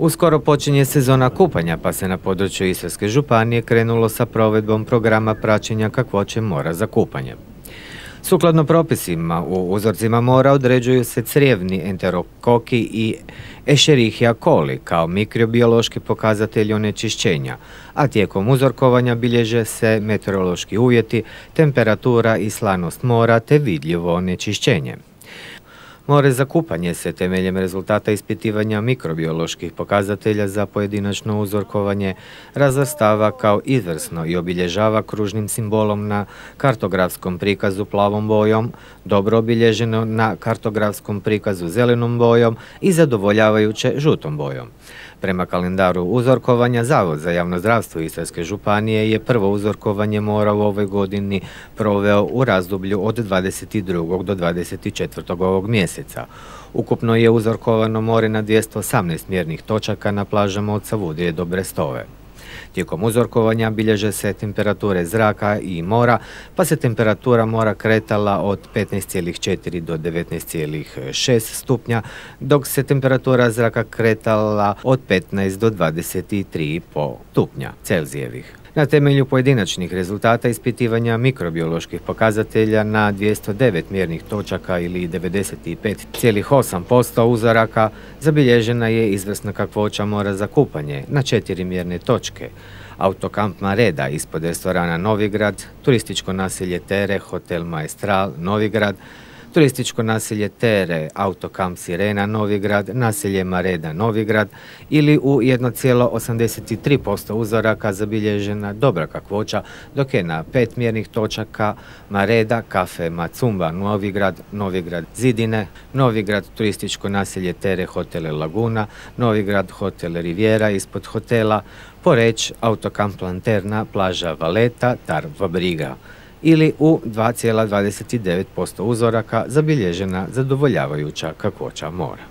Uskoro počinje sezona kupanja, pa se na području Istarske županije krenulo sa provedbom programa praćenja kakvoće mora za kupanje. Sukladno propisima u uzorcima mora određuju se crijevni enterokoki i Escherichia coli kao mikrobiološki pokazatelji onečišćenja, a tijekom uzorkovanja bilježe se meteorološki uvjeti, temperatura i slanost mora te vidljivo onečišćenje. More za kupanje se temeljem rezultata ispitivanja mikrobioloških pokazatelja za pojedinačno uzorkovanje razvrstava kao izvrsno i obilježava kružnim simbolom na kartografskom prikazu plavom bojom, dobro obilježeno na kartografskom prikazu zelenom bojom i zadovoljavajuće žutom bojom. Prema kalendaru uzorkovanja, Zavod za javno zdravstvo Istarske županije je prvo uzorkovanje mora u ovoj godini proveo u razdoblju od 22. do 24. ovog mjeseca. Ukupno je uzorkovano more na 218 mjernih točaka na plažama od Savudrije do Brestove. Tijekom uzorkovanja bilježe se temperature zraka i mora, pa se temperatura mora kretala od 15,4 do 19,6 stupnja, dok se temperatura zraka kretala od 15 do 23,5 stupnja Celzijevih. Na temelju pojedinačnih rezultata ispitivanja mikrobioloških pokazatelja na 209 mjernih točaka ili 95,8% uzoraka zabilježena je izvrsna kakvoća mora za kupanje na 4 mjerne točke. Autokamp Mareda ispod restorana Novigrad, turističko naselje Tere, hotel Maestral Novigrad, turističko naselje Tere, autokamp Sirena Novigrad, naselje Mareda Novigrad ili u 1,83% uzoraka zabilježena dobra kakvoća, dok je na 5 mjernih točaka Mareda, kafe Macumba Novigrad, Novigrad Zidine, Novigrad turističko naselje Tere, hotel Laguna, Novigrad hotel Riviera ispod hotela, Poreć, autokamp Lanterna, plaža Valeta, Tarva Briga ili u 2,29% uzoraka zabilježena zadovoljavajuća kakvoća mora.